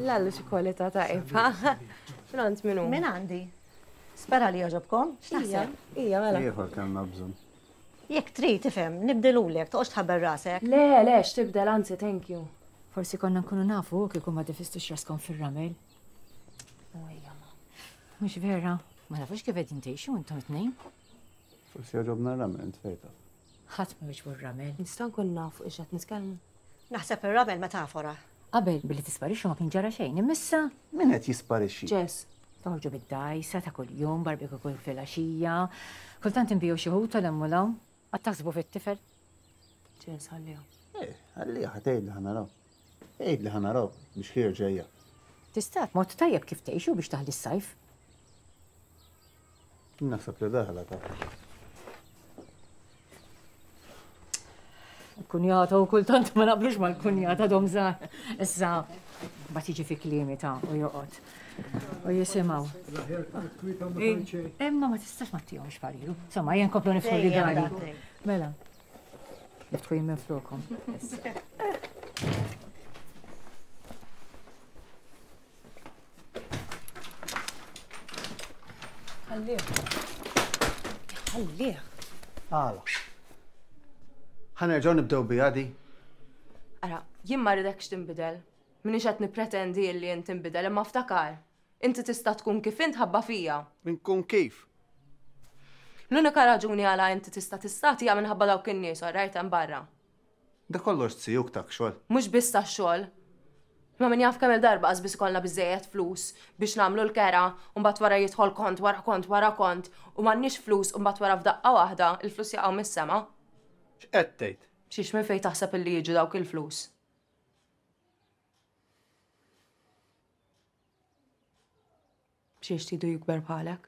Lallu xi kwalità tajba. Minn għand min hu? Minn għandi. Spera li jogħġobkom. X'taħseb? Ija, mela. Ieħor kellna bżonn. Jekk trid tifhem, nibdilulek, toqgħodx tħabbel rasek. Le, le, x'tibdel, anzi, thank you. Forsi konna nkunu nafu kieku ma difistux raskom fir-ramel. Ejja, ma. Mhux vera, ma nafux kif qegħdin tgħixu intom it-tnejn. Forsi jogħġobna r-ramel, int fejn taf. Ħadd ma jogħġbu r-ramel. Nista' nkun naf fuq ix qed nitkellmu? Naħseb ir-ramel metafora. Qabel billi tisparixxu ma kien ġara xejn, imma issa. Min qed jisparixxi? Jess. Toħorġu bid-dgħajsa ta' kuljum, barbecue kull filgħaxija. Kultant inbigħu xi ħuta 'l hemm u 'l hawn. Qatt taħsbu fit-tifel? Jess, ħalliha. Eh, ħalliha, ħa tgħid li ħa naraw. Għid li ħa naraw biex ħier ġejja. Tista' mod tajjeb kif tgħixu biex taħli s-sajf. Naħseb li daħla ta' Kunjata u kultant ma naqblux mal-kunjata dom żgħar. Issa ma tiġi fi kliemi ta' u joqgħod. U jisimgħu. Imma ma tistax ma tihomx pariru. Insomma, jien komplu nifħu rigali. Mela. Niftħu jien minn flokom. Ħallih. Ħallih. Għala. Ħa nerġgħu nibdew biha di. Ara, jien ma rridekx tinbidel. Minix qed nippretendi illi int tinbidel, imma ftakar. Inti tista' tkun kif int ħabba fija. Inkun kif? L-unika raġuni għala inti tista' tistati hija minħabba dawk in-nies, orajt hemm barra. Da kollox zijuk tak xogħol. Mhux biss tax-xogħol. Imma min jaf kemm-il darba qas biss ikollna biżżejjed flus biex nagħmlu l-kera u mbagħad wara jidħol kont wara kont wara kont u m'għandniex flus u mbagħad wara f'daqqa waħda l-flus jaqgħu mis-sema. X'qed tgħid? Xiex minn fejn taħseb illi jiġu dawk il-flus? Xiex tridu jikber bħalek?